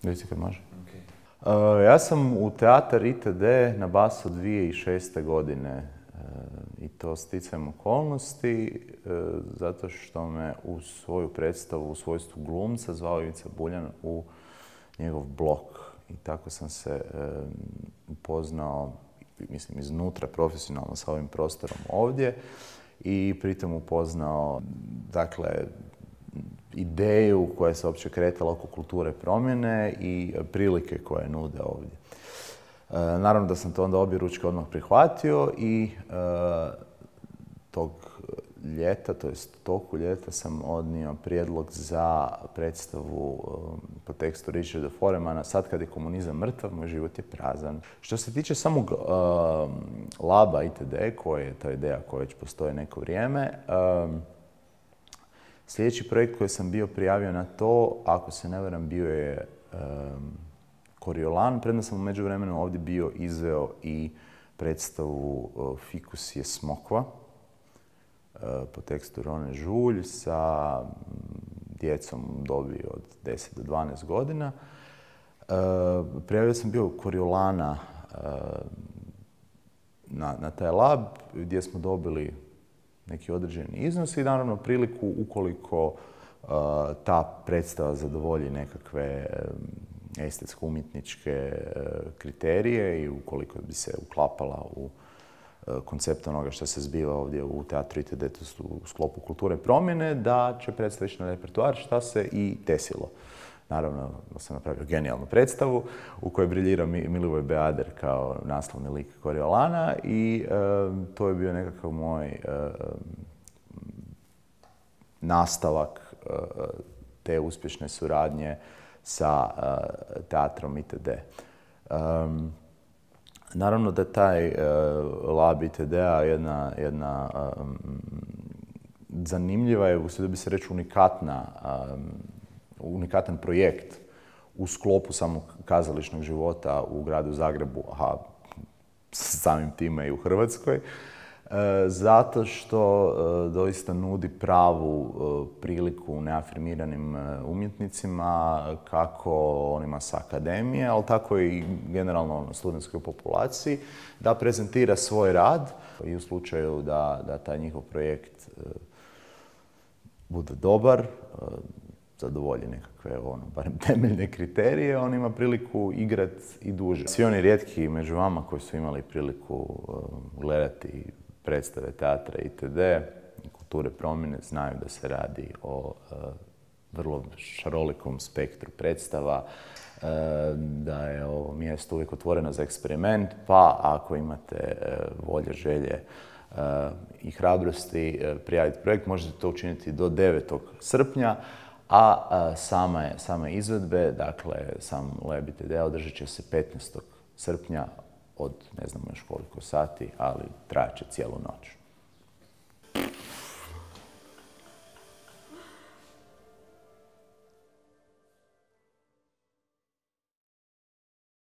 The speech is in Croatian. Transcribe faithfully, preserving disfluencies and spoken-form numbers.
Reci kad može. Okay. Uh, ja sam u teatar I T D na Basu dvije tisuće šeste. godine uh, i to sticajem okolnosti uh, zato što me u svoju predstavu u svojstvu glumca zvao Ivica Buljan u njegov blok. I tako sam se um, upoznao, mislim, iznutra profesionalno sa ovim prostorom ovdje i pritom upoznao, dakle, ideju koja se uopće kretala oko kulture promjene i prilike koje nude ovdje. E, naravno da sam to onda objeručke odmah prihvatio i e, tog ljeta, to jest toku ljeta, sam odnio prijedlog za predstavu e, po tekstu Richarda Foremana Sad kad je komunizam mrtav, moj život je prazan. Što se tiče samog e, laba I T D, koja je ta ideja koja već postoji neko vrijeme, e, sljedeći projekt koji sam bio prijavio na to, ako se ne varam, bio je um, Koriolan, premda sam u međuvremenu ovdje bio izveo i predstavu uh, Fikus je smokva uh, po tekstu Rone Žulj sa um, djecom u dobi od deset do dvanaest godina. Uh, prijavio sam bio Koriolana uh, na, na taj lab gdje smo dobili neki određeni iznos i naravno priliku ukoliko uh, ta predstava zadovolji nekakve um, estetsko-umjetničke uh, kriterije i ukoliko bi se uklapala u uh, koncept onoga što se zbiva ovdje u teatru I T D u sklopu kulture promjene, da će predstava ići na repertoar, šta se i desilo. Naravno, da sam napravio genijalnu predstavu u kojoj briljira Milivoj Beader kao naslovni lik Koriolana i e, to je bio nekakav moj e, nastavak e, te uspješne suradnje sa e, teatrom I T D. E, naravno da taj e, lab I T D-a jedna, jedna e, zanimljiva je, usudio bi se reći, unikatna e, unikatan projekt u sklopu samog kazališnog života u gradu Zagrebu, a samim time i u Hrvatskoj, zato što doista nudi pravu priliku neafirmiranim umjetnicima, kako onima sa akademije, ali tako i generalno studentskoj populaciji, da prezentira svoj rad i u slučaju da, da taj njihov projekt bude dobar, zadovolji nekakve, ono, barem temeljne kriterije, on ima priliku igrati i duže. Svi oni rijetki među vama koji su imali priliku uh, gledati predstave teatra I T D, kulture promjene, znaju da se radi o uh, vrlo šarolikom spektru predstava, uh, da je ovo mjesto uvijek otvoreno za eksperiment, pa ako imate uh, volje, želje uh, i hrabrosti uh, prijaviti projekt, možete to učiniti do devetog srpnja, a, a same, same izvedbe, dakle, sam lab I T D održat će se petnaestog srpnja od ne znamo još koliko sati, ali trajat će cijelu noć.